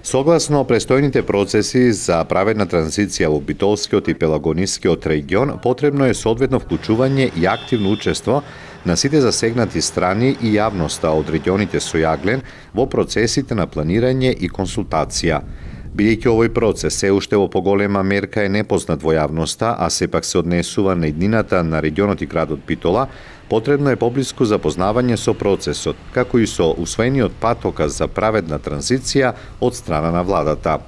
Согласно престојните процеси за праведна транзиција во Битолскиот и Пелагонискиот регион, потребно е соодветно вклучување и активно учество на сите засегнати страни и јавноста од регионите со јаглен во процесите на планирање и консултација. Бидејќи овој процес се уште во поголема мерка е непознат во јавноста, а сепак се однесува на иднината на регионот и градот Битола, потребно е поблиску запознавање со процесот, како и со усвоениот патоказ за праведна транзиција од страна на владата.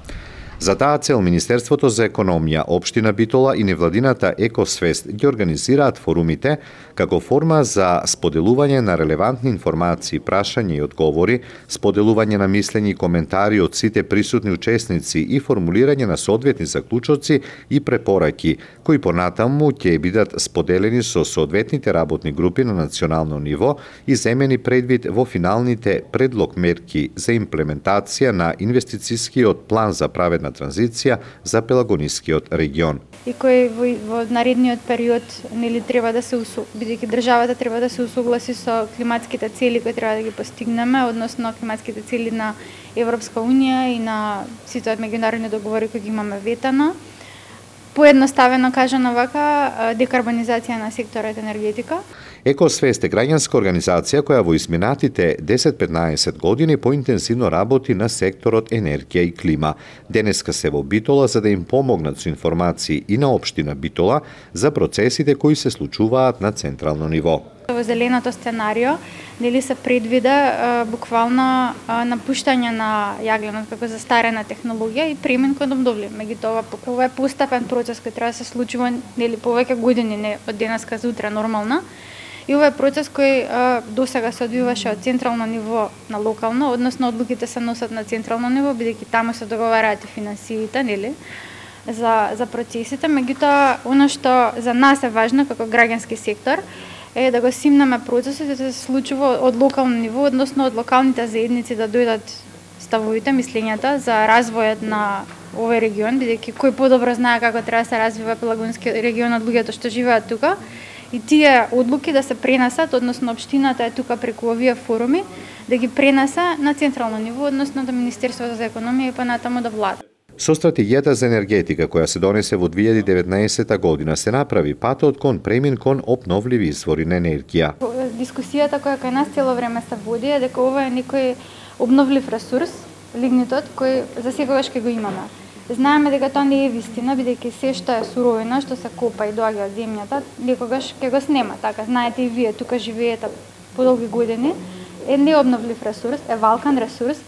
За таа цел Министерството за економија, Општина Битола и невладината Екосвест ги организираат форумите како форма за споделување на релевантни информации, прашања и одговори, споделување на мислења и коментари од сите присутни учесници и формулирање на соодветни заклучоци и препораки, кои понатаму ќе бидат споделени со соодветните работни групи на национално ниво и земени предвид во финалните предлог мерки за имплементација на инвестицискиот план за праведна транзиција за Пелагонискиот регион. И кој во наредниот период треба да се бидејќи државата треба да се усогласи со климатските цели кои треба да ги постигнеме, односно климатските цели на Европска унија и на сите меѓународни договори кои ги имаме ветано. Поедноставено кажано вака, декарбонизација на секторот енергетика. Екосвест е граѓанска организација која во изминатите 10-15 години поинтензивно работи на секторот енергија и клима. Денеска се во Битола за да им помогнат со информации и на Општина Битола за процесите кои се случуваат на централно ниво. Во зеленото сценарио се предвида буквално напуштање на јагленот како застарена технологија и премин кон обновлив. Меѓутоа, ова е постепен процес кој треба да се случува повеќе години, не од денеска за утре нормално. И ова е процес кој досега се одвиваше од централно ниво на локално, односно одлуките се носат на централно ниво, бидејќи таму се договараат и финансиите, за процесите. Меѓутоа, она што за нас е важно како граѓански сектор е да го симнеме процесот да се случува од локално ниво, односно од локалните заедници да дојдат ставовите, мислењата за развојот на овој регион, бидејќи кој подобро знае како треба да се развива Пелагонскиот регион од луѓето што живеат тука. И тие одлуки да се пренесат, односно општината е тука преку овие форуми, да ги пренесе на централно ниво, односно до Министерството за економија и понатаму до влада. Со стратегијата за енергетика која се донесе во 2019 година се направи патот кон премин кон обновливи извори на енергија. Дискусијата која кај нас цело време се води е дека ова е некој обновлив ресурс, лигнитот, кој за секогаш ќе го имаме. Знаеме дека тоа не е вистина, бидејќи се што е суровина, што се копа и доаѓа од земјата, некогаш ќе го снема. Така, знаете и вие, тука живеете подолги години, е необновлив ресурс, е валкан ресурс,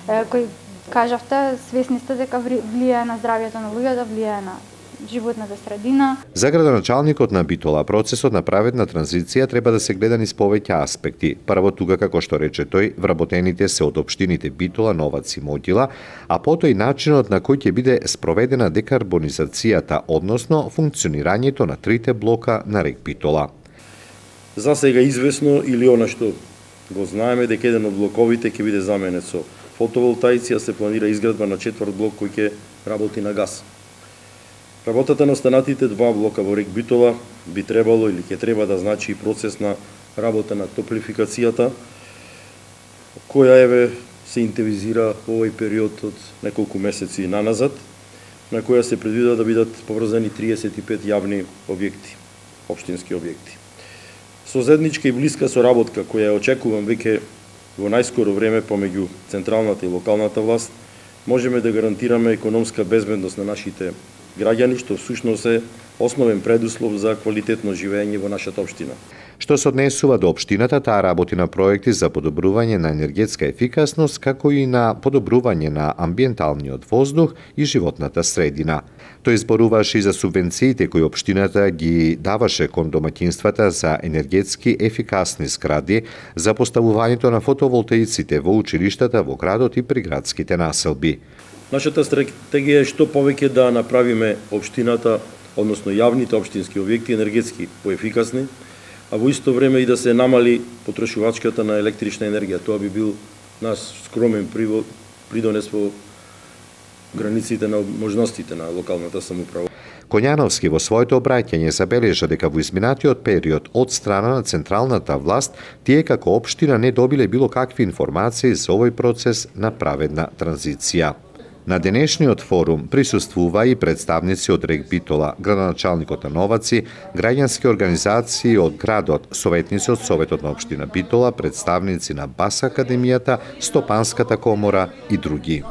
кој кажавте, свесни сте дека влијае на здравјето на луѓето, влијае на животната средина. За градоначалникот на Битола, процесот на праведна транзиција треба да се гледа низ повеќе аспекти. Прво тука, како што рече тој, вработените се од општините Битола, Новац и Могила, а потоа и начинот на кој ќе биде спроведена декарбонизацијата, односно функционирањето на трите блока на рек Битола. За сега известно или она што го знаеме дека еден од блоковите ќе биде заменет со фотоволтаици, а се планира изградба на четврт блок кој ќе работи на газ. Работата на останатите два блока во рек Битола би требало или ќе треба да значи процес на работа на топлификацијата, која се интензивира во овој период од неколку месеци наназад, на која се предвидува да бидат поврзани 35 јавни објекти, општински објекти. Со заедничка и блиска соработка која очекувам веќе во најскоро време помеѓу централната и локалната власт, можеме да гарантираме економска безбедност на нашите граѓани, што всушност е основен предуслов за квалитетно живење во нашата општина. Што се однесува до општината, таа работи на проекти за подобрување на енергетска ефикасност, како и на подобрување на амбиенталниот воздух и животната средина. Тој зборуваше и за субвенциите кои општината ги даваше кон домаќинствата за енергетски ефикасни згради, за поставувањето на фотоволтаиците во училиштата во градот и приградските населби. Нашата стратегија е што повеќе да направиме општината, односно јавните општински објекти енергетски поефикасни, а во исто време и да се намали потрошувачката на електрична енергија. Тоа би бил наш скромен придонес во границите на можностите на локалната самоуправа. Коњановски во своето обраќање забележа дека во изминатиот период од страна на централната власт, тие како општина не добиле било какви информации за овој процес на праведна транзиција. На денешниот форум присуствува и представници од РЕК Битола, градоначалникот на Новаци, граѓански организации од градот, советници од Советот на општина Битола, представници на БАС Академијата, Стопанската комора и други.